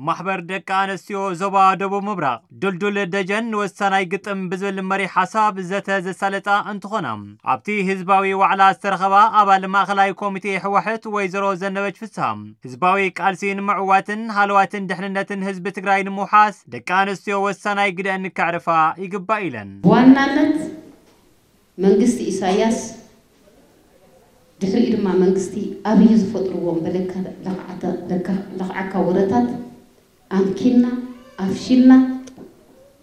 ማሕበር ደቂ ኣንስትዮ ዞባ ደቡብ ምብራቕ ድልዱል ደጀን ንወሳናይ ግጥም ብዝብል መሪ ሓሳብ ዘተ ዘሳለጣ እንትኾና፣ ኣብቲ ህዝባዊ ዋዕላ ዝተረኸባ ኣባል ማእኸላይ ኮሚቴ ህወሓት ወይዘሮ ዘነበች ፍስሃ፣ ህዝባዊ ቃልሲ ንምዕዋትን ሃለዋትን ድሕንነትን ህዝቢ ትግራይ ንምውሓስ ደቂ ኣንስትዮ ወሳናይ ግደን ከዕርፋ ይግባእ ኢለን። ብዋናነት መንግስቲ ኢሳያስ ድሕሪኡ ድማ መንግስቲ ኣብይ ዝፈጥርዎም በለካ ለኽዓካ ወረታት ኣምኪንና ኣፍሺልና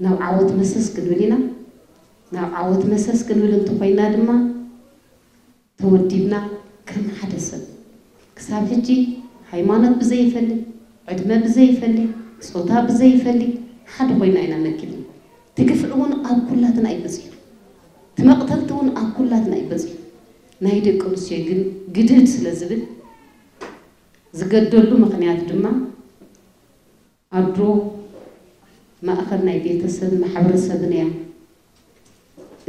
ናብ ዓወት መሰስ ክንብል ኢና። ናብ ዓወት መሰስ ክንብል እንተኾይና ድማ ተወዲብና ከም ሓደ ሰብ ክሳብ ሕጂ ሃይማኖት ብዘይፈሊ፣ ዕድመ ብዘይፈሊ፣ ጾታ ብዘይፈሊ ሓደ ኮይና ኢና መኪልና። እቲ ግፍዒ እውን ኣብ ኩላትና እዩ በፂሑ። እቲ መቕተልቲ እውን ኣብ ኩላትና እዩ በፂሑ። ናይ ደቂ ኣንስትዮ ግን ግድድ ስለ ዝብል ዝገደሉ ምኽንያት ድማ ኣዶ ማእኸል ናይ ቤተሰብ ማሕበረሰብን እያ።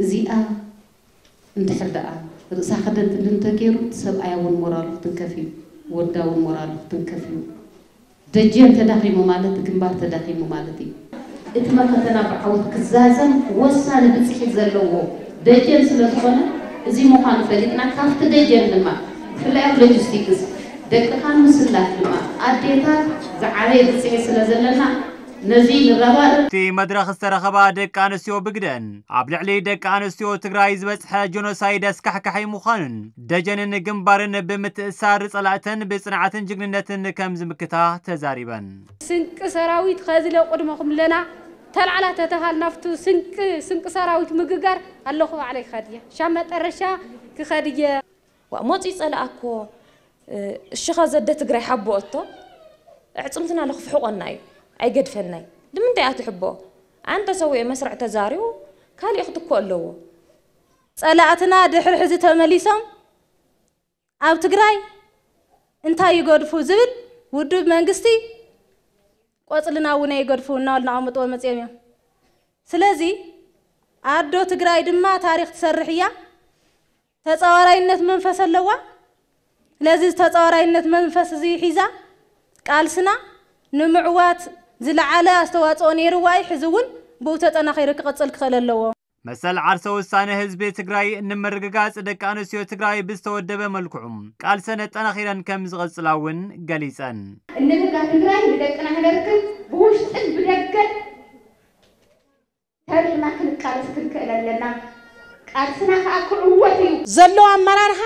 እዚኣ እንድሕር ደኣ ርእሳ ከደንድን እንተገይሩ እቲ ሰብኣያ እውን ሞራሉ ክትንከፍ እዩ፣ ወዳ እውን ሞራሉ ክትንከፍ እዩ። ደጀን ተዳኺሙ ማለት ግንባር ተዳኺሙ ማለት እዩ። እቲ መኸተና ብዓወት ክዛዘም ወሳኒ ብፅሒት ዘለዎ ደጀን ስለ ዝኾነ እዚ ምዃኑ ፈሊጥና ካብቲ ደጀን ድማ ብፍላይ ኣብ ሎጂስቲክስ ደቅኻ ምስላፍ ድማ ኣዴታት ዝዓበየ ብፅሒት ስለ ዘለና ነዚ ንረባረብ። ኣብቲ መድረኽ ዝተረኸባ ደቂ ኣንስትዮ ብግደን ኣብ ልዕሊ ደቂ ኣንስትዮ ትግራይ ዝበፅሐ ጆኖሳይድ ኣስካሕካሒ ምዃኑን ደጀንን ግንባርን ብምትእሳር ፀላእተን ብፅንዓትን ጅግንነትን ከም ዝምክታ ተዛሪበን። ስንቂ ሰራዊት ኸዝለ ቅድመኹም ለና ተላዕላ ተተኻል ናፍቱ ስንቂ ስንቂ ሰራዊት ምግጋር ኣለኹ ባዕለይ ክኸድየ ሻብ መጠረሻ ክኸድየ ዋእ ሞጺ ጸላኣ እኮ እሺኻ ዘደ ትግራይ ሓቦ እቶ ኣዕጽምትና ለኽፍሕቆና እዩ ኣይገድፈናይ ንምንታይ ኣትሕቦ ኣንተ ሰውኤ መስርዕ ተዛሪቡ ካሊእ ክትኮ ኣለዎ ጸላእትና ድሕሪ ሕዚ ተመሊሶም ኣብ ትግራይ እንታይ ይገድፉ ዝብል ውድብ መንግስቲ ቆጽልና እውን ኣይገድፉ እናበሉ እናቐመጥዎ መጺኦም እዮም። ስለዚ ኣዶ ትግራይ ድማ ታሪኽ ትሰርሕ እያ። ተፃዋራይነት መንፈስ ኣለዋ። ስለዚ ተፃዋራይነት መንፈስ እዚ ሒዛ ቃልስና ንምዕዋት ዝለዓለ ኣስተዋፅኦ ነይርዋ እዩ። ሕዚ እውን ብኡ ተጠናኺሩ ክቕፅል ክኽእል ኣለዎ። መሰል ዓርሰ ውሳነ ህዝቢ ትግራይ ንምርግጋፅ ደቂ ኣንስትዮ ትግራይ ብዝተወደበ መልክዑ ቃልሰን ኣጠናኺረን ከም ዝቐፅላ እውን ገሊፀን። እንብህጋ ትግራይ ንደቅና ክነርክብ ብውሽጥን ብደገን ተሪርና ክንቃለስ ክንክእል ኣለና። ቃልስና ከዓ ክዕወት እዩ። ዘሎ ኣመራርሓ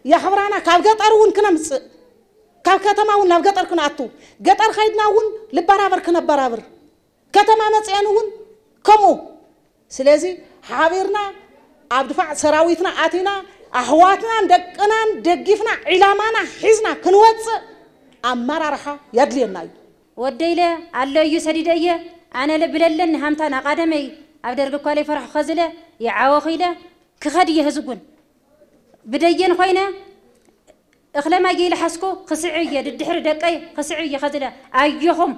የኽብራና ካብ ገጠር እውን ክነምፅእ ካብ ከተማ እውን ናብ ገጠር ክንኣቱ ገጠር ከይድና እውን ልበራበር ክነበራብር ከተማ መፅአን እውን ከምኡ ስለዚ ሓቢርና ኣብ ድፋዕ ሰራዊትና ኣቲና ኣሕዋትናን ደቅናን ደጊፍና ዒላማና ሒዝና ክንወፅእ ኣመራርሓ የድልየና እዩ። ወደይለ ኣሎ እዩ ሰዲደ እየ ኣነለ ብለለን ሃምታን ኣቓደመይ ኣብ ደርጊ እኳ ለይፈራሑ ኸዝለ ይዓወኺለ ክኸድ እየ ህዝጉን ብደየን ኾይነ እኽለ ማይ ይልሓስኩ ክስዕ እየ ድድሕሪ ደቀይ ክስዕ እየ ኸዝለ ኣየኹም